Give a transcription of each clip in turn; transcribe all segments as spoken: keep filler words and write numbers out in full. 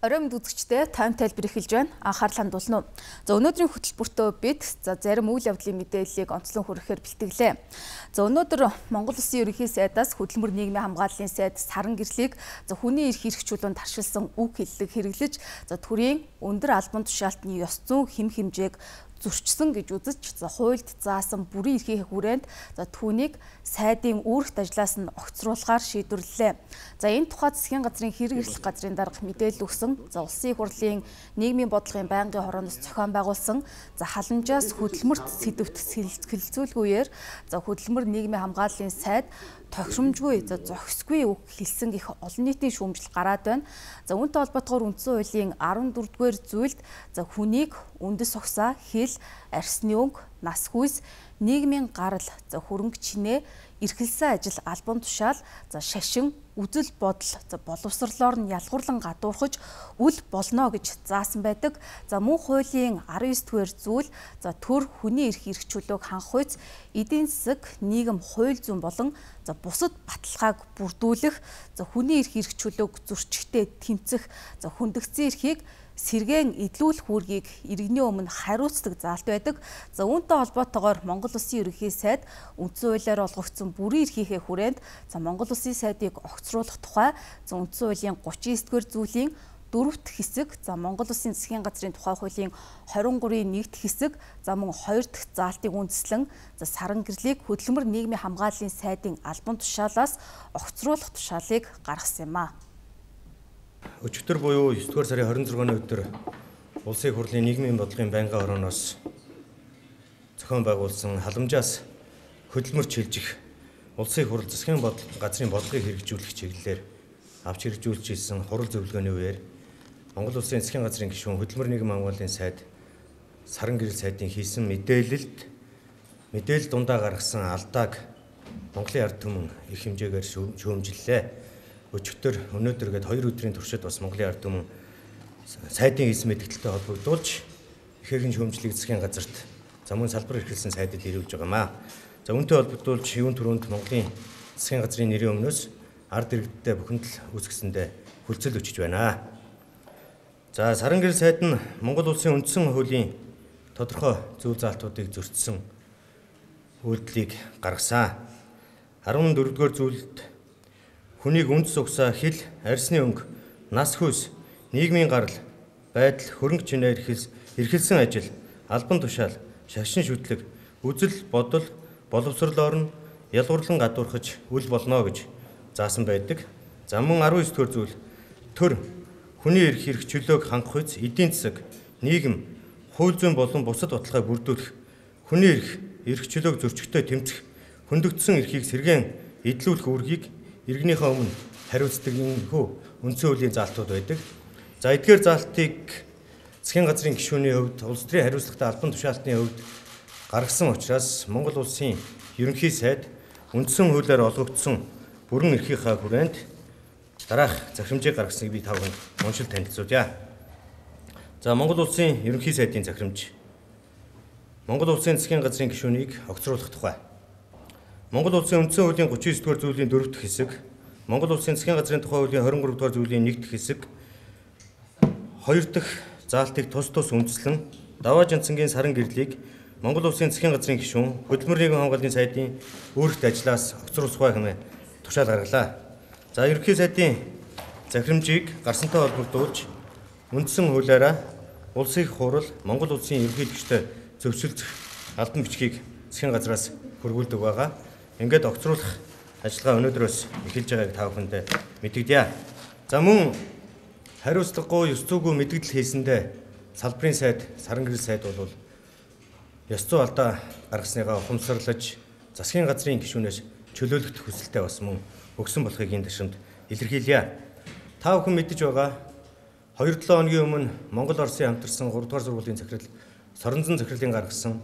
Оройн үзэгчдээ тайм тайлбар эхэлж байна. Анхаарлаа хандуулна уу. За өнөөдрийн хөтөлбөртөө бид за зарим үйл явдлын мэдээллийг онцлон хүрэхээр бэлтгэлээ. За өнөөдөр Монгол Улсын ерөнхий сайдаас хөдөлмөр нийгмийн хамгааллын сайд саран гэрлийг за хүний эрх хэрэгжүүлэлтэнд таршилсан үг хэллэг хэрэглэж за төрийн өндөр албан тушаалтны ёс зүйн хэм хэмжээг зөрчсөн гэж үзэж за хуульд заасан бүрийн эрхийн хүрээнд за түүнийг сайдын үүрэгт ажлаас нь огцруулахаар шийдвэрлэлээ. За энэ тухайд засгийн газрын хэрэг эрхлэх газрын дарга мэдээлэл өгсөн. За улсын их хурлын нийгмийн бодлогын байнгын хорооноос зохион байгуулсан за халамжаас хөдөлмөрт сэдвт хэлэлцүүлгүйгээр за хөдөлмөр нийгмийн хамгааллын сайд тохиромжгүй за зохисгүй үг хэлсэн гэх олон нийтийн шүүмжил гараад байна. За үүнтэй холбоотойгоор үндсэн хуулийн арван дөрөвдүгээр зүйлд за хүнийг үндэс угсаа хэл арсны өнгө нас хүйс нийгмийн гарал за хөрөнгө чинээ эрхэлсэн ажил албан тушаал за шашин үзэл бодол за боловсрлоор нь ялгуурлан гадуурхаж үл болно гэж заасан байдаг. За мөн хуулийн арван девять дугаар зүйл за төр хүний эрх хэрэгжүүлэлтийг хангах үйс эдийн засаг нийгэм хууль зүйн болон за бусад баталгааг бүрдүүлэх за хүний эрх хэрэгжүүлэлтийг зөрчихтэй тэмцэх за хүндэгцэн эрхийг сэргээн эдлүүлэх үүргийг иргэний өмнө хариуцдаг заалт байдаг. За үүнтэй холбоотойгоор Монгол Улсын ерөнхий сайд үндсэн хуулиар олгогдсон бүрийн эрхийнхээ хүрээнд за Монгол Улсын сайдыг огцруулах тухай за үндсэн хуулийн гучин девять дугаар зүйлийн дөрөвт хэсэг за Монгол Улсын засгийн газрын тухай хуулийн хорин гурвын нэгд хэсэг за мөн хоёр дахь заалтыг үндэслэн за саран гэрлийг хөдөлмөр нийгмийн хамгааллын сайдын албан тушаалаас огцруулах тушаалыг гаргасан юм а. Өчигдөр буюу девять дугаар сарын хорин зургааны өдөр Улсын их хурлын нийгмийн бодлогын байнгын хорооноос зохион байгуулсан халамжаас хөдөлмөр чилжих Улсын их хурл засгийн бодлого газрын бодлогыг хэрэгжүүлэх чиглэлээр авч хэрэгжүүлж ирсэн хурал зөвлөгөөний үеэр Монгол Улсын засгийн газрын гишүүн хөдөлмөр нийгмийн хамгааллын сайд саран гэрэл сайдын хийсэн мэдээлэлд мэдээлэл дундаа гаргасан алдааг Монголын ард түмэн их хэмжээгээр шүүмжиллээ. Өчигдөр өнөөдөр гээд хоёр өдрийн туршид бас Монголын ард түмэн сайдын хийсэн мэдээлэлтэй холбогдуулж их хэрхэн шүүмжлэх засгийн газарт за мөн салбар эрхэлсэн сайдад ирүүлж байгаа маа. За үүнтэй холбогдуулж юун түрүүнд Монголын засгийн газрын нэрийн өмнөөс ард иргэдтэй бүхэнд л үүсгэсэндээ хүлцэл өчөж байна. За саран гэрэл сайд нь Монгол Улсын үндсэн хуулийн тодорхой зөв заалтуудыг зөрчсөн үйлдэлийг гаргасан. арван дөрөвдүгээр зүйлд хүнийг үндэс угсаа хэл арсны өнгө нас хүйс нийгмийн гарал байдал хөрөнгө чинээр эрхэлсэн ажил албан тушаал шашин шүтлэг үзэл бодол боловсрлоор нь ялгуурлан гадуурхаж үл болно гэж заасан байдаг. За мөн арван девять дугаар зүйл төр хүний эрх хэрэгжүүлэлтийг хангах үйс эдийн засаг нийгэм хууль зүйн болон бусад баталгааг бүрдүүлэх хүний эрх хэрэгжүүлэлтийг зөрчигтэй тэмцэх хүндэгдсэн эрхийг сэргээн эдлүүлэх үүргийг иргэнийхээ өмнө хариуцдаг энэ хөө үндсэн хуулийн заалтууд байдаг. За эдгээр заалтыг засгийн газрын гишүүний хувьд улс төрийн хариуцлагатай албан тушаалтны хувьд гаргасан учраас Монгол Улсын ерөнхий сайд үндсэн хуулиар олгогдсон бүрэн эрхийнхаа хүрээнд дараах захирамжийг гаргасныг би тавхан уншил танилцуулъя. За Монгол Улсын ерөнхий сайдын захирамж Монгол Улсын засгийн газрын гишүүнийг огцруулах тухай. Монгол Улсын үндсэн хуулийн гучин девять дугаар зүйлийн дөрөвт хэсэг, Монгол Улсын засгийн газрын тухай хуулийн хорин гурав дугаар зүйлийн нэгд хэсэг, хоёр дахь заалтыг тус тус үндэслэн даваа жанцангийн саран гэрлийг Монгол Улсын засгийн газрын гишүүн хөдөлмөр нийгмийн хамгааллын сайдын үүрэгт ажлаас огцруулах хэмээн тушаал гаргалаа. За ерөнхий сайдын захирамжийг гарсантай холбогдуулж үндсэн хуулиараа Улсын их хурл Монгол Улсын ерөнхийлөгчтэй зөвшөлдөх албан бичгийг засгийн газраас хөрвүүлдэг байгаа. Ингээд огцруулах ажиллагаа өнөөдрөөс эхэлж байгааг та бүхэнд мэдэгдэе. За мөн хариуцлагагүй ёс зүйгүй мэдгдэл хийсэндээ салбарын сайд саран гэрэл сайд бол ёс зүй алдаа гаргасныгаа ухамсарлаж засгийн газрын гишүүнээс чөлөөлөх хүсэлтэй бас мөн өгсөн болохыг энэ ташрамд илэрхийлье. Та бүхэн мэдэж байгаа хоёр долоо хоногийн өмнө Монгол Оросын хамтарсан гурав дугаар сургуулийн захирал Соронзон захирлын гаргасан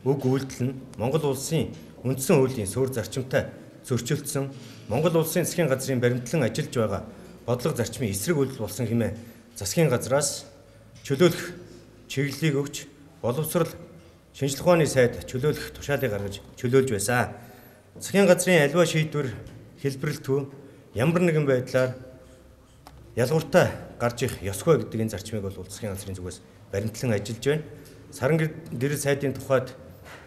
үг үйлдэл нь Монгол Улсын үндсэн хуулийн суурь зарчимтай зөрчилдсөн Монгол Улсын засгийн газрын баримтлан ажиллаж байгаа бодлого зарчмын эсрэг үйлдэл болсон хэмээн засгийн газраас чөлөөлөх чиглэлийг өгч боловсрал шинжлэх ухааны сайд чөлөөлөх тушаалыг гаргаж чөлөөлж байсан. Засгийн газрын аливаа шийдвэр хэлбэрэлтгүй ямар нэгэн байдлаар ялгууртаа гарч их ёсгүй гэдэг энэ зарчмыг бол улсын газрын зүгээс баримтлан ажиллаж байна. Саран гэрэл сайдын тухайд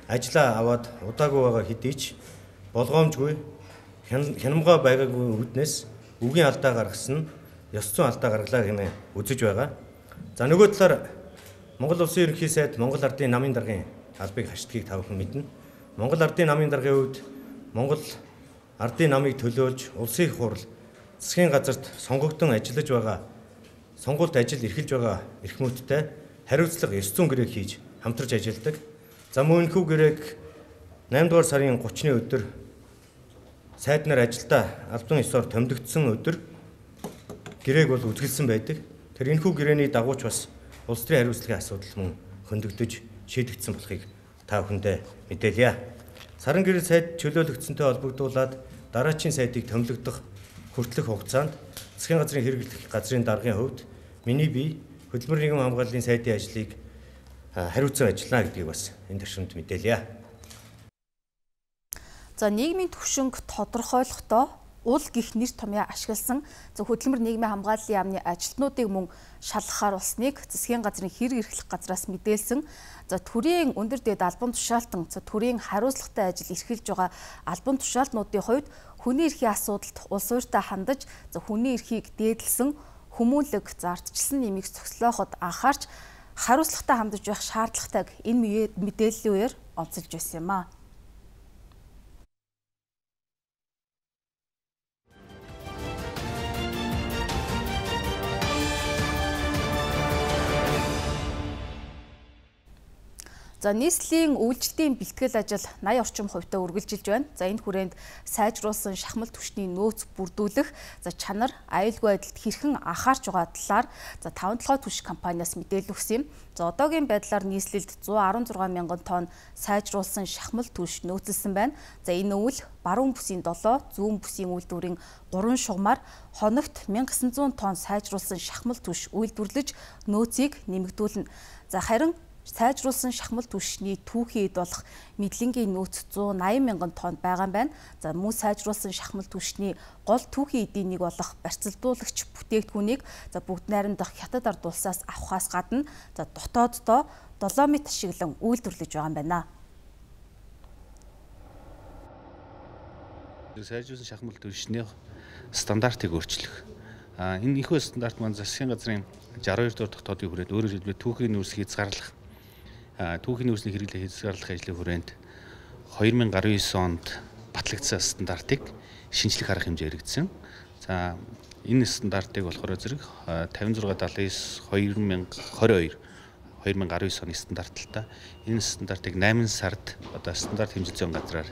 ажлаа аваад удаагүй байгаа хэдий ч болгоомжгүй хянамгаа байгаагүй үүднээс үгийн алдаа гаргасан нь ёс зүйн алдаа гаргалаа хэмээн үзэж байгаа. За нөгөө талаар Монгол Улсын ерөнхий сайд Монгол Ардын намын даргын албыг хашдгийг та бүхэн мэднэ. Монгол Ардын намын даргын үед Монгол Ардын намыг төлөөлж улсын их хурл засгийн газарт сонгогдсон ажиллаж байгаа сонгуульд ажил эрхэлж байгаа эрхмүүдтэй хариуцлага ёс зүйн гэрээг хийж хамтарч ажилладаг. За мөн энэхүү гэрээг наймдугаар сарын гуравчны өдөр сайд нар ажилдаа албан ёсоор томилогдсон өдөр гэрээг бол үзгэлсэн байдаг. Тэр энэхүү гэрээний дагууч бас улс төрийн хариуцлагын асуудал мөн хөндөгдөж шийдэгдсэн болохыг та бүхэндээ мэдээлье. Саран гэрэл сайд чөлөөлөгдсөнтэй холбогдуулаад дараачийн сайдыг томилогдох хүртэлх хугацаанд засгийн газрын хэрэглэх газрын даргын хувьд миний бие хөдөлмөр нийгэм хамгааллын сайдын ажлыг хариуцсан ажиллана гэдгийг бас энэ төвшөнд мэдээлье. За нийгмийн түвшинг тодорхойлохдоо уул гих нэр томьёо ашигласан хөдөлмөр нийгмийн хамгааллын яамны ажилтнуудыг мөн шалгахаар болсныг засгийн газрын хэрэг эрхлэх газраас мэдээлсэн. За төрийн өндөр дэд албан тушаалтан за төрийн хариуцлагатай ажил эрхэлж байгаа албан тушаалтнуудын хувьд хүний эрхийн асуудалд улс ууртаа хандаж за хүний эрхийг дээдлсэн хүмүүнлэг зардчилсан нэмийг зогслооход анхаарч хариуцлагатай хандаж байх шаардлагатайг энэ мэдээллийн үеэр онцолж байсан юм а. За нийслэлийн үйлчлэлийн бэлтгэл ажил наяа орчим хувьтай үргэлжилж байна. За энэ хүрээнд сайжруулсан шахмал түвшний нөөц бүрдүүлэх, за чанар, аюулгүй байдалд хэрхэн анхаарч байгаа талаар за таван толгой түвш компаниас мэдээлэл өгсөн юм. За одоогийн байдлаар нийслэлд зуун арван зургаан мянган тонн сайжруулсан шахмал түвш нөөцлсөн байна. За энэ үйл баруун бүсийн долоо, зүүн бүсийн үйлдвэрийн гурван шугамар хоногт мянга гэсэн зуун тонн сайжруулсан шахмал түвш үйлдвэрлэж нөөцийг нэмэгдүүлнэ. За харин сайжруулсан шахмал түвшний түүхийн эд болох мэдлэнгийн нөөц зуун найман мянган тонн байгаа юм байна. За мөн сайжруулсан шахмал түвшний гол түүхийн эдийн нэг болох барьцалдуулагч бүтээгдэхүүнийг за бүгд найрамдах хятад ард улсаас авахаас гадна за дотооддоо долоомит ашиглан үйлдвэрлэж байгаа юм байна. Сайжруулсан шахмал түвшний стандартыг өөрчлөх. А энэ ихэнх стандарт маань засгийн газрын шестьдесят two дахь дотоодын хүрээнд өөрөөр хэлбэл түүхийн нөөц хязгаарлах түүхийн нөөцний хэрэглээ хязгаарлах ажлын хүрээнд two thousand nineteen онд батлагдсан стандартыг шинжлэх арга хэмжээ хэрэгжсэн. За энэ стандартыг болохоор зэрэг fifty-six seventy-nine two thousand nineteen оны стандарттай энэ стандартыг eight сард одоо стандарт хэмжээ зүйн газраар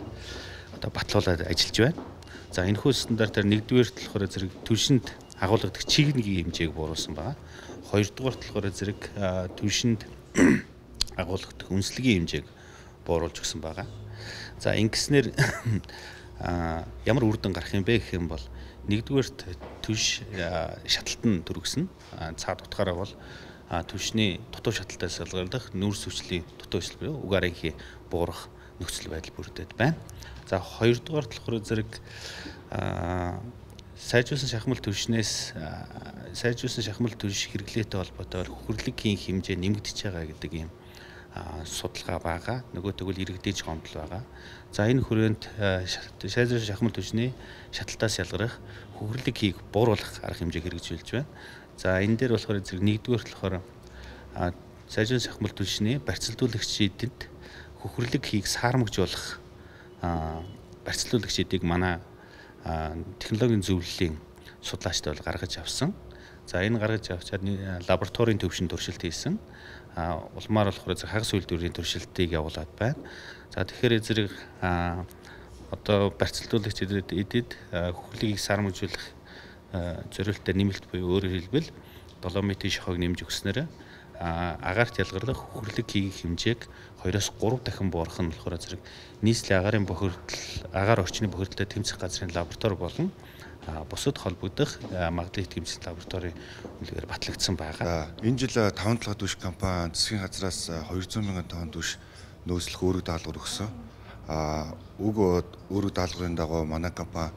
одоо батлуулаад ажиллаж байна. За энэхүү стандартаар нэгдүгээр болохоор зэрэг түвшинд агуулгадаг чиглэлийн хэмжээг бууруулсан байна. Хоёрдугаар болохоор зэрэг түвшинд агуулгадаг үнслэгийн хэмжээг бууруулж өгсөн байгаа. За ингэснээр ямар үр дүн гарах юм бэ гэх юм бол нэгдүгээр түвш шаталтан төрөгсөн. Цаад утгаараа бол түвшний дутуу шаталтаас ялгарлах нүүрс хүчлийн дутуу хүчил буюу угаарынхий буурах нөхцөл байдал бүрдээд байна. За хоёрдугаар болохоор зэрэг сайжруулсан шахмал түвшнээс сайжруулсан шахмал түвш хэрэглээтэй холбоотой хөхөрлөгийн хэмжээ нэмэгдэж байгаа гэдэг юм судалгаа байгаа. Нөгөө тэгвэл иргэдэж гомдол байгаа. За энэ хүрээнд сайжруулсан шахмал түвшний шаталтаас ялгарах хөхөрлөг хийг бууруулах арга хэмжээг хэрэгжүүлж байна. За энэ дээр болохоор зэрэг нэгдүгээр болохоор сайжруулсан шахмал түвшний барьцалдуулагчид хөхөрлөг хийг саармагжуулах барьцалдуулагчдыг манай технологийн зөвлөлийн судлаачтай бол гаргаж авсан. За энэ гаргаж авчаад лабораторийн төвшин туршилт хийсэн. Улмаар болохоор хагас үйлдвэрийн туршилтыг явуулаад байна. За тэгэхээр зэрэг одоо барьцалдуулагчдад эдэд хөхөрлөгийг саармагжуулах зорилттой нэмэлт буюу өөрөөр хэлбэл долоомитын шохойг нэмж өгснээр агаарт ялгарлах хөхөрлөг хийх хэмжээг two-оос three дахин буурах нь болохоор зэрэг нийслэлийн агаарын бохирдол агаар орчны бохирдолтой тэмцэх газрын лаборатори болон бусад холбогдох магадлалыг тэмцэх лабораторийн үлгээр батлагдсан байгаа. Энэ жил таван толгой түвш компани засгийн газраас two hundred мянган тонн түвш нөөцлөх өөрөг даалгавар өгсөн. А уг өөрөг даалгаврын дагуу манай компани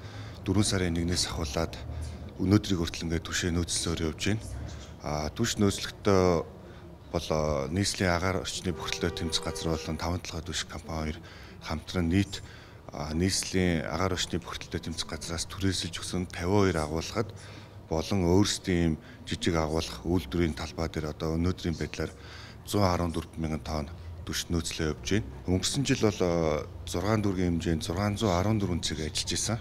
four сарын one-ээс ахуулаад өнөөдрийг хүртэл ингээд түвшээ нөөцлөөр явж байна. А түвш нөөцлөхдөө бол нийслэлийн агаар орчны бохирдлоо тэмцэх газар болон таван талхай түвш компани хоёр хамтран нийт нийслэлийн агаар орчны бохирдлоо тэмцэх газраас түрээсэлж өгсөн тавин хоёр агуулгад болон өөрсдийн жижиг агуулгах үйлдвэрийн талбай дээр одоо өнөөдрийн байдлаар зуун арван дөрвөн мянган тонн түвш нөөцлөө явж байна. Өнгөрсөн жил бол зургаан дүүргийн хэмжээнд зургаан зуун арван дөрвөн цэг ажиллаж исэн.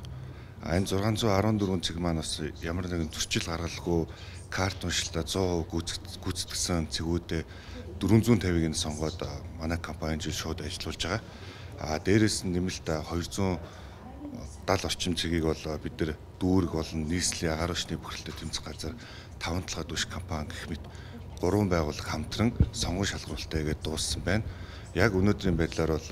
Энэ зургаан зуун арван дөрвөн цэг маань бас ямар нэгэн зөрчил гаргалгүй карт уншилтаа сто процент гүйцэтгсэн цэгүүдээ дөрвөн зуун тавийг нь сонгоод манай компани жил шууд ажиллуулж байгаа. А дээрээс нь нэмэлт хоёрзуун дал орчим цэгийг бол бид нар дүүрэг болон нийслэлийн агаар орчны бохирдлоо тэмцэх газар таван талхай түвш компани гэх мэт гурван байгууллага хамтран сонгон шалгуулалтаа гээд дууссан байна. Яг өнөөдрийн байдлаар бол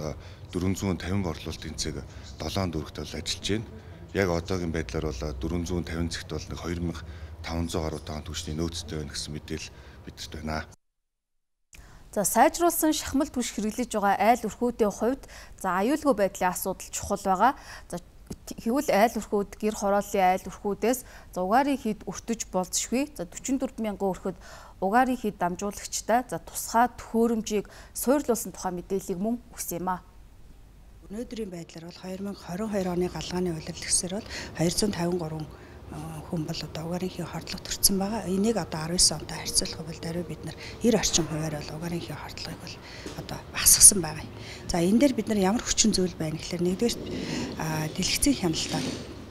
дөрвөн зуун тавин борлуулалтын цэг долоон дүүрэгт бол ажиллаж байна. Яг одоогийн байдлаар бол дөрвөн зуун тавин цэгт бол нэг хоёр мянган таван зуун гаруй тонн түвшний нөөцтэй байна гэсэн мэдээлэл бидэрт байна. За сайжруулсан шахмал түвш хэрэглэж байгаа айл өрхүүдийн хувьд за аюулгүй байдлын асуудал чухал байгаа. За Хэвэл айл өрхүүд гэр хорооллын айл өрхүүдээс за угаарын хід өртөж болзошгүй. За дөрвөн дөрвөн мянган өрхөд угаарын хід дамжуулагчтай за тусгай төхөөрөмжийг суйрлуулсан тухай мэдээллийг мөн өгсөн юм а. Өнөөдрийн байдлаар бол хоёр мянган хорин хоёр оны галгааны улирал гэсээр бол хоёрзуун тавин гурван хүн бол одоо угаарын хий хордлого төрсэн байгаа. Энийг одоо арван девять онтой харьцуулах бол даруй бид нар девяносто орчим хувиар бол угаарын хий хордлогыг бол одоо багасгасан байгаа. За энэ дээр бид нар ямар хүчин зүйл байна гэхээр нэгдүгээр дэлгэцийн хяналтаа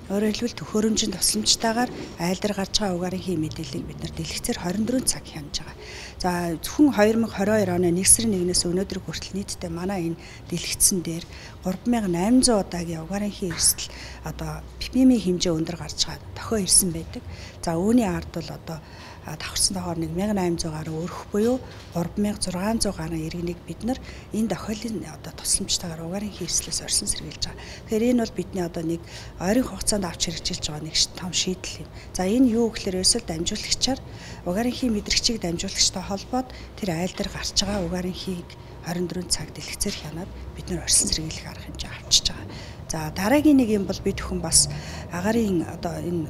өөрөөр хэлбэл төхөөрөмжийн тусламжтайгаар айл дээр гарч байгаа угаарын хий мэдээллийг бид нар дэлгэцээр хорин дөрвөн цаг хянаж байгаа. За зөвхөн хоёр мянган хорин хоёр оны нэг сарын нэгнээс өнөөдөр хүртэл нийтдээ манай энэ дэлгэцэн дээр гурван мянган найман зуун удаагийн угаарын хий эрсдэл одоо пи пи эм-ийн хэмжээ өндөр гарч байгаа тохио ирсэн байдаг. За үүний ард бол одоо давхарсан тохоор нэг мянган найман зуун гаруй өрөх буюу гурван мянган зургаан зуун гаруй иргэнийг бид нар энэ тохиолын одоо тусламжтайгаар угаарын хий эрсдлээс орсон сэргийлж байгаа. Тэгэхээр энэ бол бидний одоо нэг ойрын хугацаанд авч хэрэгжилж байгаа нэг том шийдэл юм. За энэ юу гэхээр ерөөсөө дамжуулагчаар угаарын хий мэдрэгчийг дамжуулагчтай холбоод тэр айл дээр гарч байгаа угаарын хийг хорин дөрвөн цаг дэлгэцээр хянаад бид нар орсон сэргийлэх арга хэмжээ авчиж байгаа. За дараагийн нэг юм бол бид бүхэн бас агаарын одоо энэ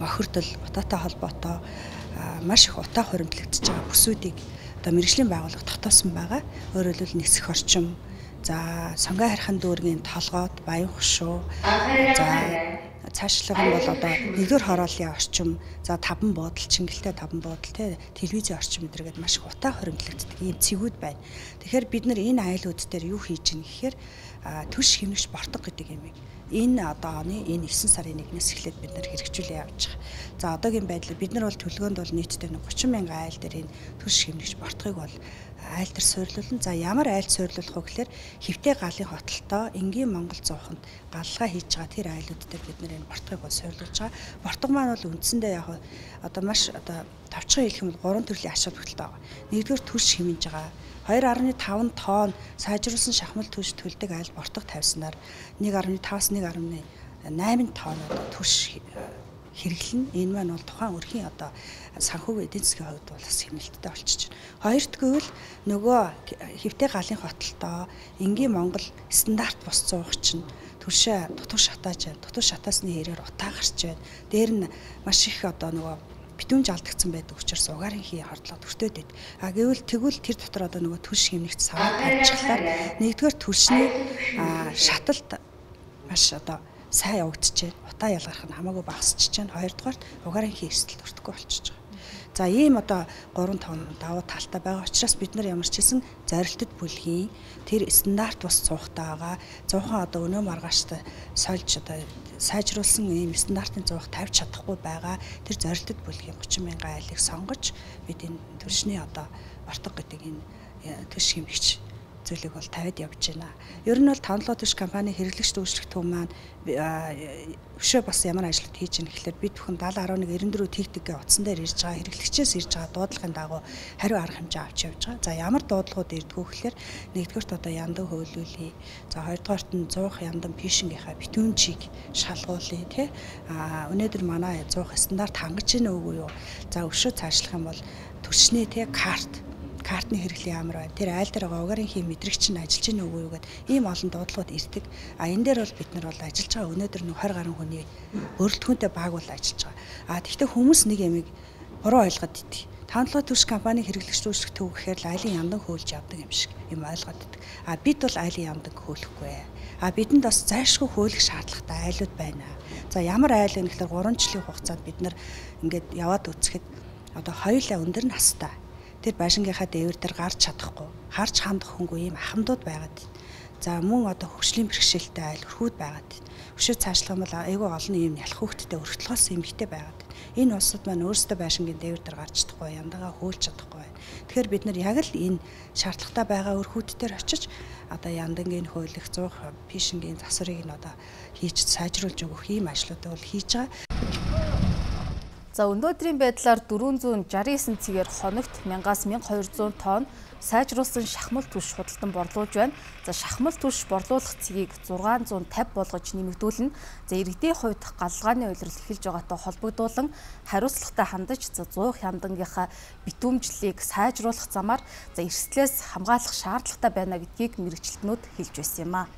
бохирдол утаатай холбоотой маш их утаа хуримтлагдж байгаа бүсүүдийг одоо мэргэжлийн байгууллага дотоосон байгаа. Өөрөөр хэлбэл нисэх орчим, за сонгой харьхан дүүргийн толгойд баян хушуу, за цаашлага нь бол одоо нэгдүгээр хорооллын орчим, за таван буудал, чингэлтэй таван буудал, тэ телевизийн орчим гэдэргээд маш их утаа хуримтлагддаг ийм цэгүүд байна. Тэгэхээр бид нар энэ айлууд дээр юу хийж гин гэхээр түвш хэмнэгч бортог гэдэг юм. Энэ одоо оны энэ девять сарын нэгнээс эхлээд бид нар хэрэгжүүлээ явж байгаа. За одоогийн байдлаар бид нар бол төлгөөнд бол нийтдээ тридцать мянган айл дээр энэ түвш хэмнэгч бортгыг бол айл дээр суйрлуулна. За ямар айл суйрлуулах вэ гэхээр хэвтэй галын хотолтой энгийн Монгол зууханд галлага хийж байгаа тэр айлууд дээр бид нар энэ бортгыг бол суйрлуулж байгаа. Бортог маань бол үндсэндээ яг одоо маш одоо товчхон хэлэх юм бол гурван төрлийн ач холбогдолтой байгаа. Нэгдүгээр түвш хэмнэж байгаа. хоёр дасам таван тонн сайжруулсан шахмал түвш төлдөг айл бортог тавьснаар нэг дасам пятаас нэг дасам восемь тонн одоо түвш хэрэглэн. Энэ маань бол тухайн өрхийн одоо санхүүгийн эдийн засгийн хувьд бол бас хэмнэлттэй болчихж байна. Хоёрдугаар нь нөгөө хэвтэй галын хотолтой энгийн Монгол стандарт бус зуух чинь түвшээ дутуу шатааж байна. Дутуу шатаасны хэрээр утаа гарч байна. Дээр нь маш их одоо нөгөө битүүн жалдагдсан байдаг учраас угаарын хий хордлого төртөөд байд. А гэвэл тэгвэл тэр дотор одоо нөгөө түвш хэмнэгт саваа тавьчихлаар нэгдүгээр түвшний шаталт маш одоо сайн явагдаж байна. Утаа ялгарх нь хамаагүй багасчихж байна. Хоёрдугаарт угаарын хий эрсдэл төртгөө болчихж байгаа. За ийм одоо гурван тонн давуу талтай байгаа учраас бид нар ямар ч хэсэн зорилттой бүлгийн тэр стандарт бас цуухтай байгаа. Зуухан одоо өнөө маргааштай сольж одоо сайжруулсан ийм стандартын зуух тавьж чадахгүй байгаа. Тэр зорилттой бүлгийн тридцать мянган айлыг сонгож бид энэ түвшний одоо бортог гэдэг энэ түвш хэмжигч зүйлийг бол тавиад явж байна. Ер нь бол таван түвш компани хэрэглэгч дүүжлэх төв маань өшөө бас ямар ажил хийж байна гэхэлэр бид бүхэн даатал арван нэг девяносто дөрвөн тэгтэггээ утсан дээр ирж байгаа хэрэглэгчээс ирж байгаа дуудлагын дагуу хариу арга хэмжээ авч явж байгаа. За ямар дуудлагууд ирдгүү гэхэлэр нэгдүгээрт одоо яндан хөөлүүлье. За хоёрдугаарт нь зуух яндан пишингийнхаа битүүнчийг шалгуулъя тий. А өнөөдөр манай зуух стандарт хангаж гинэ үгүй юу? За өшөө цаашлах юм бол түвшний тий карт картны хэрэглээ ямар байна. Тэр айл дээр байгаа угаарын хий мэдрэгч нь ажиллаж ийн үгүй юу гэдэг ийм олон дуудлагууд ирдэг. А энэ дээр бол бид нар бол ажиллаж байгаа өнөөдөр нэг двадцать гаруй хүний өрөлтгөнтэй баг бол ажиллаж байгаа. А тэгвэл хүмүүс нэг ямиг буруу ойлгоод идэг. Тавталгаа төрш компани хэрэглэгч үүсгэх төв гэхээр айлын яндан хөөлж явдаг юм шиг юм ойлгоод идэг. А бид бол айлын яндан хөөлөхгүй. А бидэнд бас зайлшгүй хөөлөх шаардлагатай айлууд байна. За ямар айл вэ гэхээр гурван жилийн хугацаанд бид нар ингээд яваад үзэхэд одоо хоёулаа өндөр настай. Тэр байшингийнхаа дээвэр дээр гарч чадахгүй, харж хандах хөнгөө ийм ахмадууд байгаад байна. За мөн одоо хөгжлийн бэрхшээлтэй айл өрхүүд байгаад байна. Өшөө цаашлах юм бол айгүй олон ийм ялах хөвгттэй өргөтлгоос эмгтэй байгаад байна. Энэ улсад маань өөрсдөө байшингийн дээвэр дээр гарч чадахгүй, яндагаа хөөлж чадахгүй байна. Тэгэхээр бид нар яг л энэ шаардлагатай байгаа өрхүүдээр очиж одоо яндангийн хөөлөх зуух пишингийн засварыг нь одоо хийж сайжруулж өгөх ийм ажлуудыг бол хийж байгаа. За өнөөдрийн байдлаар дөрвөн зуун шестьдесят девять цэгээр хоногт мянгаас мянга хоёр зуун тонн сайжруулсан шахмал түш худалдан борлуулж байна. За шахмал түш борлуулах цэгийг зургаан зуун тавь болгож нэмэгдүүлнэ. За иргэдийн хувьд галлгааны улирал эхэлж байгаатай холбогдуулан хариуцлагатай хандаж за зуух яндангийнхаа битүүмжлэлийг сайжруулах замаар за эрсдлээс хамгаалах шаардлагатай байна гэдгийг мэргэжилтнүүд хэлж байсан юм а.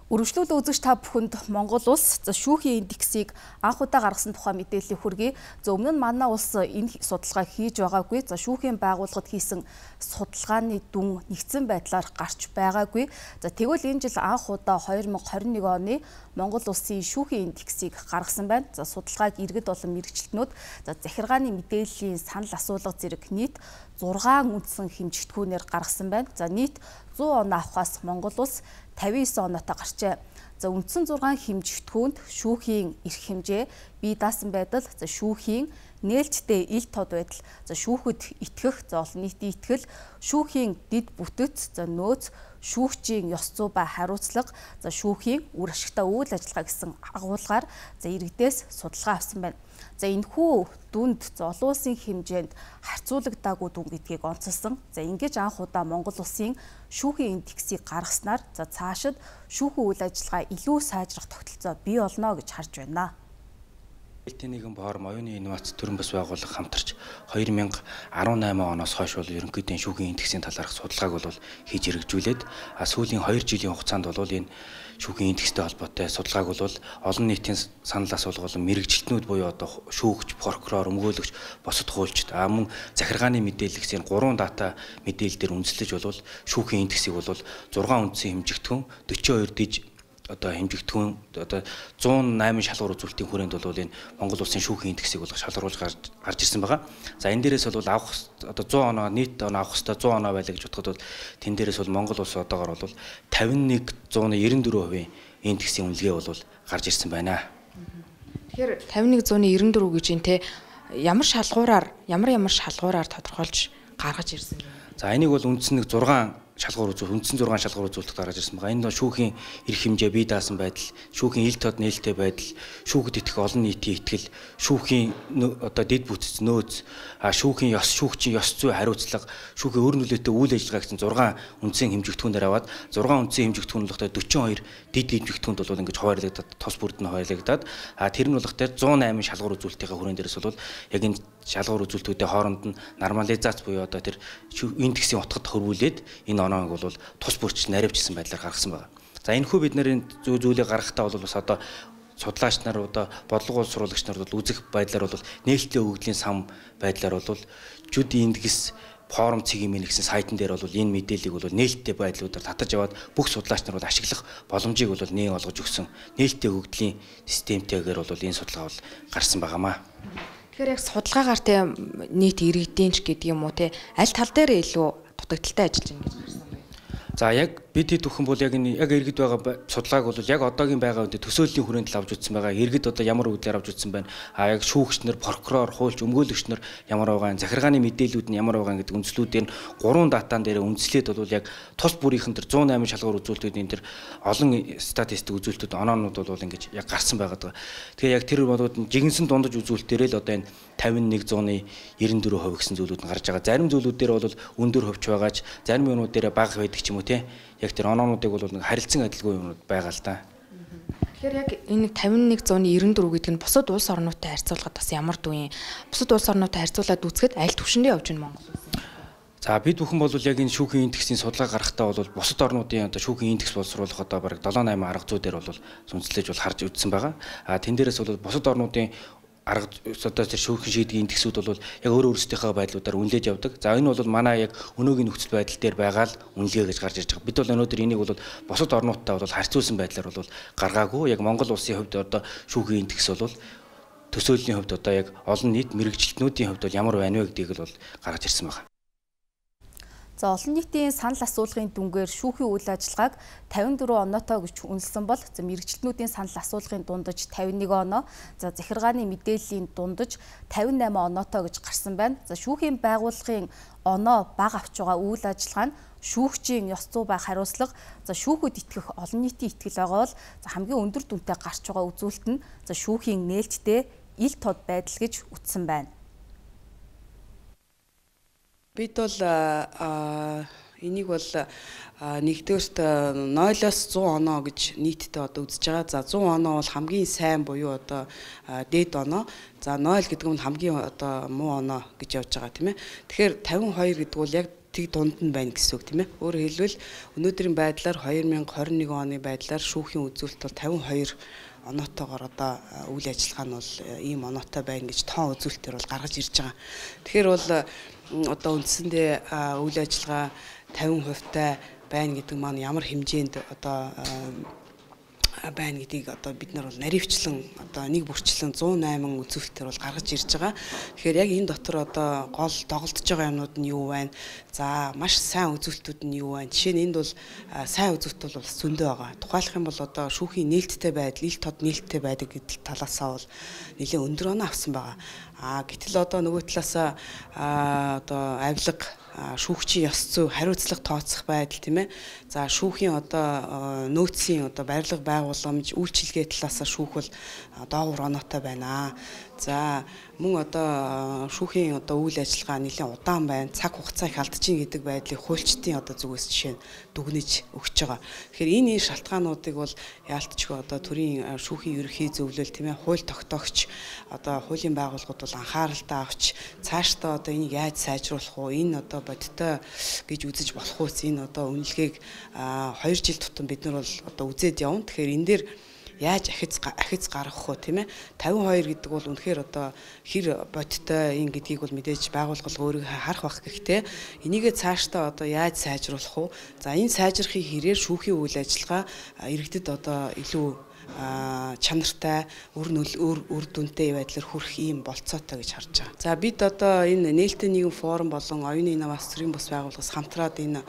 Үргэлжлүүлэн үзэгч та бүхэнд Монгол улс за шүүхийн индексийг анх удаа гаргасан тухай мэдээллийг хүргэе. За өмнө нь манай улс энэ судалгааг хийж байгаагүй. За шүүхийн байгууллагад хийсэн судалгааны дүн нэгдсэн байдлаар гарч байгаагүй. За тэгвэл энэ жил анх удаа хоёр мянга хорин нэг оны Монгол улсын шүүхийн индексийг гаргасан байна. За судалгааг иргэд болон мэргэжилтнүүд за захиргааны мэдээллийн санал асуулга зэрэг нийт зургаан үндсэн хэмжигдэхүүнээр гаргасан байна. За нийт зуун оноо авахаас Монгол улс тавин девять оноотой гарчээ. За үндсэн зургаан хэмжигдэхүүнд шүүхийн эрх хэмжээ, бие даасан байдал, за шүүхийн нээлттэй ил тод байдал, за шүүхэд итгэх, за олон нийтийн итгэл, шүүхийн дид бүтэц, за нөөц, шүүгчийн ёс зүй ба хариуцлага, за шүүхийн үр ашигтай үйл ажиллагаа гэсэн агуулгаар за иргэдээс судалгаа авсан байна. За энэхүү дүнд за олон улсын хэмжээнд харьцуулагдаагүй дүн гэдгийг онцолсон. За ингэж анх удаа Монгол улсын шүүхийн индексийг гаргаснаар за цаашид шүүхийн үйл ажиллагаа илүү сайжрах тогтолцоо бий болно гэж харж байна. Элтийн нэгэн форум оюуны инновац төрийн бас байгууллага хамтарч хоёр мянга арван найман оноос хойш бол ерөнхийдөө шүүхийн индексийн талаарх судалгааг бол хийж хэрэгжүүлээд сүүлийн хоёр жилийн хугацаанд бол энэ шүүхийн индекстэй холбоотой судалгааг бол олон нийтийн санал асуулга болон мэргэжилтнүүд буюу одоо шүүгч, прокурор, өмгөөлөгч, босод хуульчид а мөн захиргааны мэдээлэгсийн гурван дата мэдээлэл дээр үндэслэж бол шүүхийн индексийг бол зургаан үндсэн хэмжигдэхүүн forty-two диж одоо хэмжигдэхүүн одоо зуун найман шалгуур үзүүлэлтийн хүрээнд бол энэ Монгол улсын шүүхийн индексийг бол шалгаруулж гарч гарч ирсэн байгаа. За энэ дээрээс бол авах одоо one hundred оноо нийт оноо авах хэвээр one hundred оноо байлаа гэж бодоход бол тэн дээрээс бол Монгол улс одоогоор бол fifty-one зуун ninety-four хувийн индексийн үнэлгээ бол гарч ирсэн байна. Тэгэхээр fifty-one зуун ninety-four гэж энэ те ямар шалгуураар ямар ямар шалгуураар тодорхойлж гаргаж ирсэн бэ? За энийг бол үндсэн нэг six шалгуур үзүүл үндсэн зургаан шалгуур үзүүлэлт гаргаж ирсэн байгаа. Энэ нь шүүхийн эрх хэмжээ бие даасан байдал, шүүхийн ил тод нээлттэй байдал, шүүхэд итгэх олон нийтийн итгэл, шүүхийн одоо дид бүтц нөөц, шүүхийн ёс шүүгчийн ёс зүй хариуцлага, шүүхийн өөр нөлөөтэй үйл ажиллагаа гэсэн зургаан үндсэн хэмжигдэхүүнээр аваад зургаан үндсэн хэмжигдэхүүн болохтой forty-two дид хэмжигдэхүүнд бол ингэж хуваарлагдаад тос бүрд нь хуваарлагдаад а тэр нь болохтой one oh nine шалгуур үзүүлэлтийн хүрээнд дээрээс бол яг энэ шалгуур үзүүлэлтүүдийн хооронд нь нормализац буюу одоо тэр индексийн утгад хөрвүүлээд энэ оноог бол тус бүрч наривчсан байдлаар гаргасан байна. За энэхүү бид нарын зүй зүйлийг гаргахтаа бол бас одоо судлаач нар одоо бодлого сурвалжлагч нар бол үзэх байдлаар бол нээлттэй өгөгдлийн сан байдлаар бол жүд индекс форум цэгийн мэн гэсэн сайтн дээр бол энэ мэдээллийг бол нээлттэй байдлуудаар татаж аваад бүх судлаач нар бол ашиглах боломжийг бол нээн олгож өгсөн нээлттэй өгөгдлийн системтэйгээр бол энэ судалгаа бол гарсан байгаамаа. Тэгэхээр яг судалгаагаар те нийт иргэдийн ч гэдэг юм уу те аль тал дээр илүү дутагдaltaй ажиллаж байна гэж харсан бэ? За яг бид хэд бүхэн бол яг энэ яг иргэд байгаа судалгааг бол яг одоогийн байгаа үедээ төсөөллийн хүрээнд л авч үзсэн байгаа. Иргэд одоо ямар үгээр авч үзсэн байна. А яг шүүгч нар, прокурор, хуульч, өмгөөлөгч нар ямар байгаа, захиргааны мэдээллүүд нь ямар байгаа гэдэг үндслүүдээр гурван датан дээр үндэслээд бол яг тус бүрийнхэн тэр one oh nine шалгуур үзүүлэлтүүдийн тэр олон статистик үзүүлэлтүүд оноонууд бол ингэж яг гарсан байгаа. Тэгэхээр яг тэр бодууд нь жигэнсэн дундаж үзүүлэлтээр л одоо энэ fifty-one зуун ninety-four хувь гэсэн зүйлүүд нь гарч байгаа. Зарим зүйлүүд дээр бол өндөр хувьч байгаач, зарим юмнууд дээр бага байдаг ч юм уу те. Яг тэр оноонуудыг бол нэг харилцан адилгүй юмнууд байгаа л да. Тэгэхээр яг энэ тавин нэг зууны нэрэн дөрөв гэдэг нь бусад улс орнуудтай харьцуулахад бас ямар дүү юм? Бусад улс орнуудтай харьцуулаад үзэхэд аль түвшиндээ явж байна Монгол улс? За бид бүхэн бол яг энэ шүүхийн индексийн судалгаа гаргахтаа бол бусад орнуудын одоо шүүхийн индекс боловсруулах одоо бараг седем восемь арга зүй дээр бол сүнслэж бол харж үзсэн байгаа. А тэн дээрээс бол бусад орнуудын арга одоо тэр шүүхийн шийдгийн индексүүд бол яг өөр өөрсдийнхөө байдлуудаар үнэлж явдаг. За энэ бол манай яг өнөөгийн нөхцөл байдал дээр байгаа л үнэлгээ гэж гарч ирж байгаа. Бид бол өнөөдөр энийг бол бусад орнуудтай бол харьцуулсан байдлаар бол гаргаагүй. Яг Монгол улсын хувьд одоо шүүхийн индекс бол төсөөллийн хувьд одоо яг олон нийт мэрэгжилтнүүдийн хувьд бол ямар байна вэ гэдгийг л гаргаж ирсэн байна. За олон нийтийн санал асуулгын дүнгээр шүүхийн үйл ажиллагааг тавин дөрөв оноотой гэж үнэлсэн бол за мэрэгчлэнүүдийн санал асуулгын дундаж тавин нэг оноо, за захиргааны мэдээллийн дундаж тавин найман оноотой гэж гарсан байна. За шүүхийн байгууллагын оноо бага авч байгаа үйл ажиллагаа нь шүүгчийн ёс зүй ба хариуцлага, за шүүхэд итгэх олон нийтийн итгэл байгаа бол за хамгийн өндөр дүнтэй гарч байгаа үзүүлэлт нь за шүүхийн нээлттэй ил тод байдал гэж үтсэн байна. Бид бол энийг бол нэгдүгээрт нойлоос зуун оноо гэж нийтдээ одоо үзэж байгаа. За зуун оноо бол хамгийн сайн буюу одоо дээд оноо. За нойл гэдэг нь хамгийн одоо муу оноо гэж явж байгаа тийм ээ. Тэгэхээр тавин хоёр гэдэг бол яг тэг дунд нь байна гэсэн үг тийм ээ. Өөрөөр хэлбэл өнөөдрийн байдлаар две тысячи двадцать one оны байдлаар шүүхийн үзүүлэлт бол тавин хоёр оноотойгоор одоо үйл ажиллагаа нь бол ийм оноотой байна гэж тоон үзүүлэлтээр бол гаргаж ирж байгаа. Тэгэхээр бол одоо үндсэндээ үйл ажиллагаа тавин хувьтай байна гэдэг маань ямар хэмжээнд одоо байна гэдгийг одоо бид нар бол наривчлан одоо нэг бүрчлэн one oh eight үзүүлэлтээр бол гаргаж ирж байгаа. Тэгэхээр яг энэ дотор одоо гол доголдож байгаа юмнууд нь юу байна? За маш сайн үзүүлэлтүүд нь юу байна? Жишээ нь энд бол сайн үзүүлэлт бол зөндөө байгаа. Тухайлах юм бол одоо шүүхийн нээлттэй байдал, ил тод нээлттэй байдаг гэдэг талаасаа бол нэлээд өндөр оноо авсан байгаа. А гэтэл одоо нөгөө талаасаа одоо авилга шүүгчийн ёс зүй хариуцлага тооцох байдал тийм ээ. За шүүхийн одоо нөөцийн одоо барилга байгууламж үйлчилгээ талаасаа шүүх бол доогуур оноотой байна. За мөн одоо шүүхийн одоо үйл ажиллагаа нэлээд удаан байна. Цаг хугацаа их алдчихин гэдэг байдлыг хуульчдын одоо зүгээс жишээ нь дүгнэж өгч байгаа. Тэгэхээр энэ шалтгаануудыг бол яалтчгүй одоо төрийн шүүхийн ерөнхий зөвлөл тийм ээ хууль тогтоогч одоо хуулийн байгууллагууд бол анхааралтай авч цаашдаа одоо энийг яаж сайжруулах вэ? Энэ одоо бодиттой гэж үзэж болох уу? Энэ одоо үнэлгээг хоёр жил тутам бид нар бол одоо үзээд явна. Тэгэхээр энэ дээр яаж ахиц ахиц гаргах вэ тийм ээ тавин хоёр гэдэг бол үнэхээр одоо хэр бодиттой ин гэдгийг бол мэдээж байгуулгал өөрийгөө харах бах гэхдээ энийгээ цаашдаа одоо яаж сайжруулах вэ? За энэ сайжрахын хэрээр шүүхийн үйл ажиллагаа иргэдэд одоо илүү чанартай өр өр үр дүнтэй байдлаар хүрэх ийм болцоотой гэж харж байгаа. За бид одоо энэ нээлттэй нийгэм форум болон оюуны инновац төрийн бас байгууллагаас хамтраад энэ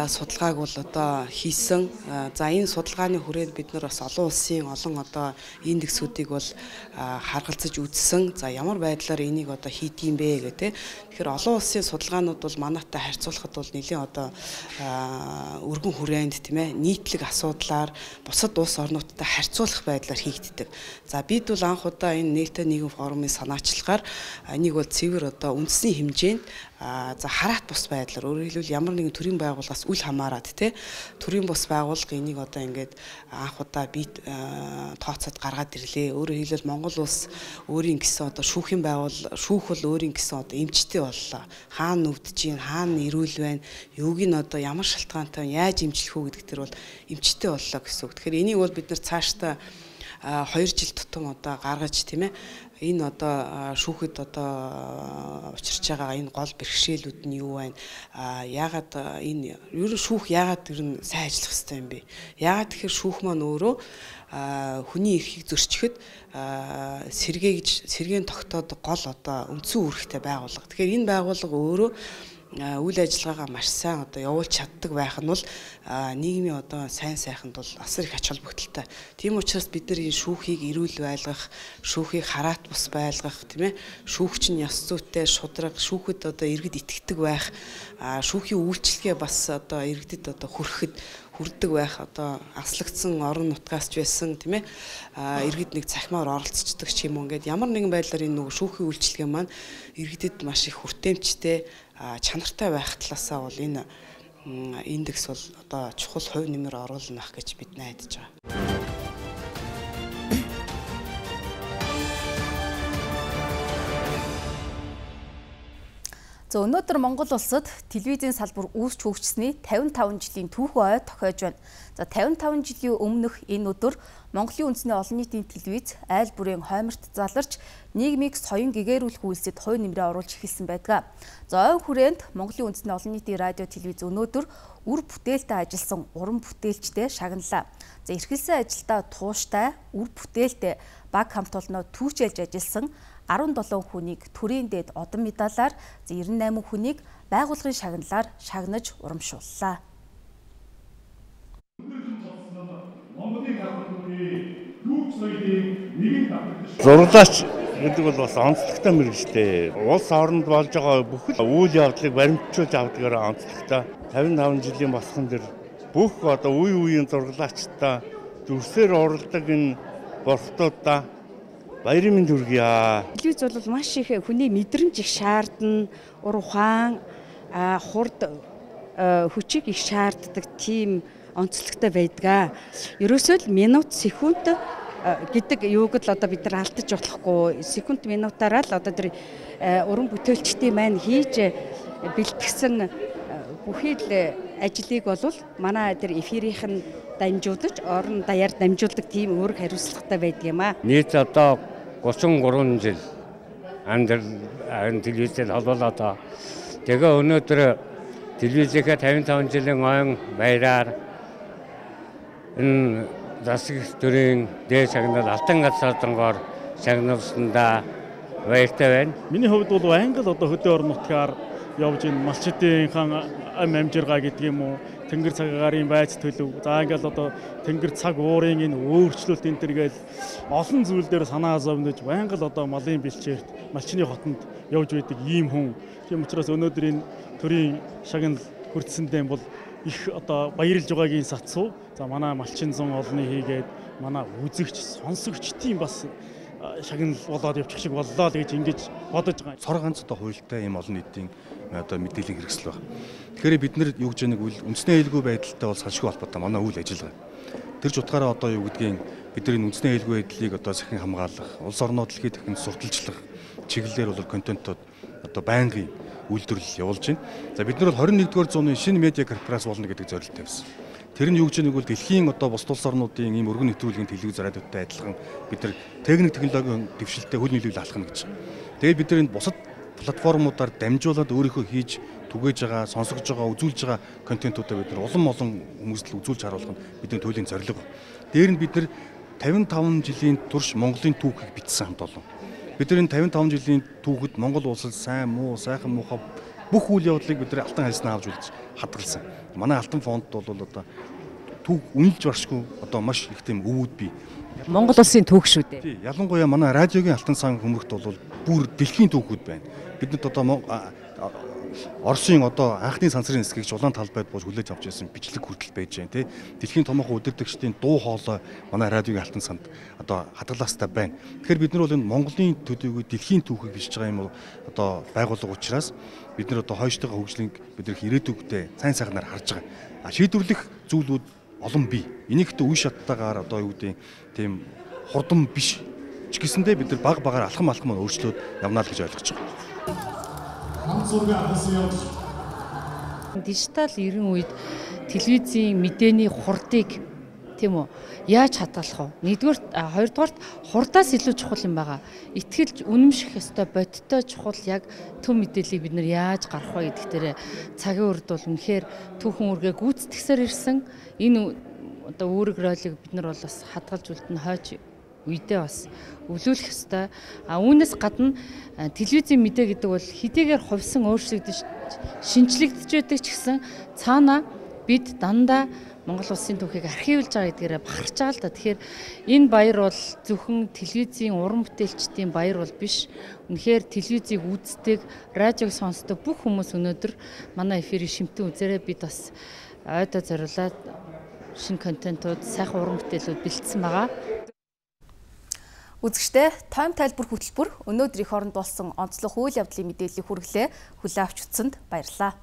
судалгааг бол одоо хийсэн. За энэ судалгааны хүрээнд бид нар бас олон улсын олон одоо индексүүдийг бол харгалзаж үзсэн. За ямар байдлаар энийг одоо хийдгийм бэ гэх тэ. Тэгэхээр олон улсын судалгаанууд бол манайтай харьцуулахад бол нэлээд одоо өргөн хүрээнд тийм ээ нийтлэг асуудлаар бусад улс орнуудтай харьцуулах байдлаар хийгддэг. За бид бол анх удаа энэ нээлттэй нийгэм форумын санаачлагаар энийг бол цэвэр одоо үндэсний хэмжээнд за хараат бус байдлаар өөрөөр хэлбэл ямар нэгэн төрийн байгууллагаас үл хамааран тий төрийн бус байгууллага энийг одоо ингээд анх удаа би тооцоод гаргаад ирлээ. Өөрөөр хэлбэл Монгол улс өөрийн гэсэн одоо шүүхийн байгуул шүүх бол өөрийн гэсэн одоо эмчтэй боллоо. Хаана нүвдэж гин хаана ирүүл байна. Юуг нь одоо ямар шалтгаантай яаж эмчлэх үү гэдэг төр бол эмчтэй боллоо гэсэн үг. Тэгэхээр энийг бол бид нар цаашдаа хоёр жил тутам одоо гаргаж тийм ээ энэ одоо шүүхэд одоо учирч байгаа энэ гол бэрхшээлүүд нь юу байна? Яагаад энэ ерөн шүүх яагаад тэр нь сайн ажиллах хэрэгтэй юм бэ? Яагаад тэгэхээр шүүх маань өөрөө хүний эрхийг зөрчихөд сэргээгж сэргээн тогтоодог гол одоо үндсэн үүрэгтэй байгууллага. Тэгэхээр энэ байгууллага өөрөө үйл ажиллагаагаа маш сайн одоо явуулж чаддаг байх нь бол нийгмийн одоо сайн сайханд бол асар их ач холбогдолтой. Тийм учраас бид нар энэ шүүхийг эрүүл байлгах, шүүхийг хараат бус байлгах, тийм ээ, шүүгч нь ёс зүйтэй шудраг, шүүхэд одоо иргэд итгэдэг байх, шүүхийн үйлчлэгээ бас одоо иргэдэд одоо хүрэхэд хүрдэг байх одоо аслагдсан орон нутгаас ч байсан тийм ээ иргэд нэг цахимаар оролцдог ч юм уу ингээд ямар нэгэн байдлаар энэ нөгөө шүүхийн үйлчлэгээ маань иргэдэд маш их хүртээмжтэй чанартай байх талаасаа бол энэ индекс бол одоо чухал хувь нэмэр оруулах гэж бид найдаж байгаа. За өнөөдөр Монгол улсад телевизийн салбар үүсч хөгжсөний тавин таван жилийн түүхэн ой тохиож байна. За тавин таван жилийн өмнөх энэ өдөр Монголын үндэсний олон нийтийн телевиз айл бүрийн хойморт заларч нийгмийг соён гэгээрүүлэх үйлсэд хувь нэмрээ оруулж эхэлсэн байдаг. За ойн хүрээнд Монголын үндэсний олон нийтийн радио телевиз өнөөдөр үр бүтээлтэй ажилласан уран бүтээлчтэй шагналаа. За эрхэлсэн ажилдаа тууштай, үр бүтээлтэй баг хамт олноо түүчэлж ажилласан арван долоон хүнийг төрийн дээд одон медалаар, эрдэнэ найман хүнийг байгууллагын шагналаар шагнаж урамшууллаа. Зурлаач гэдэг бол бас онцлогтой мэргэжтэй. Улс оронд болж байгаа бүхэл үйл явдлыг баримтжуулж авдгаар онцлогтой. тавин таван жилийн босгон дээр бүх одоо үе үеийн зурлаачтай дүрсээр уралдаг энэ гортуудаа баярын мэнд хүргье. Телевиз бол маш их хүний мэдрэмж их шаардна, ур ухаан, хурд хүчийг их шаарддаг тийм онцлогтой байдаг. Ерөөсөө л минут, секунд гэдэг юуг л одоо бид нар алдаж болохгүй. Секунд минутаараа л одоо тэр уран бүтээлчдийн маань хийж бэлтгэсэн бүхий л ажлыг бол манай тэр эфирийнх нь дамжуулж, орон даяар дамжуулдаг тийм үүрэг хариуцлагатай байдаг юм аа. Нийт одоо гучин гурван жил андэр телевизээр холбоолоод байгаа. Тэгээ өнөөдөр телевизийнхээ тавин таван жилийн ойн баяраар энэ засаг төрийн дээд шагнал Алтан газруудангоор шагналсандаа баяртай байна. Миний хувьд бол англ одоо хөдөө орон нутгаар явж ин малчдынхан ам амжиргаа гэдэг юм уу, тэнгэр цагаарын байц төлөв. За ингээл одоо тэнгэр цаг уурын энэ өөрчлөлт энэ төргээл олон зүйл дээр санаа зовнож англ одоо малын бэлчээрт малчны хотонд явж байдаг ийм хүн. Тийм учраас өнөөдөр энэ төрийн шагнал хүртсэндээ бол их одоо баярлж байгаагийн сацуу. За манай малчин зам олны хийгээд манай үзэгч, сонсогч тийм бас шагнал болоод явчих шиг боллоо л гэж ингэж бодож байгаа. Цор ганц одоо хуйлтай ийм олон нийтийн одоо мэдээллийн хэрэгсэл байна. Тэгэхээр бид нар юу гэж нэг үл үндэсний аюулгүй байдалтай бол салшгүй холбоотой манай үйл ажиллагаа. Тэр ч утгаараа одоо юу гэдгийг бид нар энэ үндэсний аюулгүй байдлыг одоо сахин хамгаалах, улс орноо дэлхийд дахин сурталчлах чиглэлээр бол контентууд одоо байнгын үйлдвэрлэл явуулж байна. За бид нар бол хорин нэгдүгээр зууны шинэ медиа корпорац болно гэдэг зорилт тавьсан. Тэр нь юу гэж нэг бол дэлхийн одоо бус улс орнуудын ийм өргөн нэвтрүүлгийн телевиз радиотой адилхан бид нар техник технологийн дэвшилтэд хөл нийлүүл алхна гэж. Тэгээд бид нар энэ бусад платформудаар дамжуулаад өөрийнхөө хийж түгээж байгаа, сонсогж байгаа, үзүүлж байгаа контентуудаа бид нар улам олон хүмүүст л үзүүлж харуулах нь бидний төлөвийн зорилго. Дээр нь бид нар тавин таван жилийн турш Монголын түүхийг бичсэн хамт олон. Бид нар энэ тавин таван жилийн түүхэд Монгол улсад сайн, муу, сайхан, муухай бүх үйл явдлыг бид нар алтан хальснаа авч үзэж хадгалсан. Манай алтан фонд бол одоо түүх үнэлж баршгүй одоо маш их тийм өвүүд бий. Монгол улсын түүх шүү дээ. Тий, ялангуяа манай радиогийн алтан сан хүмүүрт бол бүр дэлхийн түүхүүд байна. Биднэрт одоо Оросын одоо анхны сансрын хэсгийг улаан талбайд бууж хүлээж авч ирсэн бичлэг хүртэл байж байна тий. Дэлхийн томоохон удирдагчдын дуу хоолой манай радиогийн алтан санд одоо хадгалаастай байна. Тэгэхээр бид нар бол энэ Монголын төдийгүй дэлхийн түүхийг бичиж байгаа юм одоо байгууллага учраас бид нар одоо хойштойгоо хөгжлийг бид нар ирээдүйдээ сайн сайхнаар харж байгаа. А шийдвэрлэх зүйлүүд олон бий. Энийг ихтэй үе шаттайгаар одоо юу гэдэг тийм хурдан биш ч гэсэндээ бид нар баг багаар алхам алхам өөрчлөөд явнаа л гэж ойлгож байгаа. Дижитал ерөн үед телевизийн мэдээний хурдыг тийм үү яаж хадгалах вэ? Нэгдүгээр хоёрдугаарт хурдаас илүү чухал юм байгаа. Итгэлж үнэмших ёстой бодиттой чухал яг төв мэдээллийг бид нар яаж гаргах вэ гэдэг дээр цагийн үрд бол үнэхээр түүхэн үргээ гүйцэтгсээр ирсэн. Энэ одоо үүрэг ролыг бид нар бол бас хадгалж үлдэн хойч үедээ бас өвлүүлэх ёстой. А үүнээс гадна телевизийн мэдээ гэдэг бол хэдийгээр хувьсан өөрчлөгдөж шинжлэгдэж байдаг ч гэсэн цаана бид дандаа Монгол улсын түүхийг архивлж байгаа гэдгээрээ бахарч байгаа л да. Тэгэхээр энэ баяр бол зөвхөн телевизийн уран бүтээлчдийн баяр бол биш. Үнэхээр телевизийг үздэг, радиог сонсдог бүх хүмүүс өнөөдөр манай эфирийг шимтэн үзээрэй. Бид бас ойдоо зориулаад шинэ контентууд, сайхан уран бүтээлүүд бэлдсэн байгаа. Үзэгчдээ тойм тайлбар хөтөлбөр өнөөдөр их оронд болсон онцлог үйл явдлын мэдээллийг хүргэлээ. Хүлээн авч үзсэнд баярлалаа.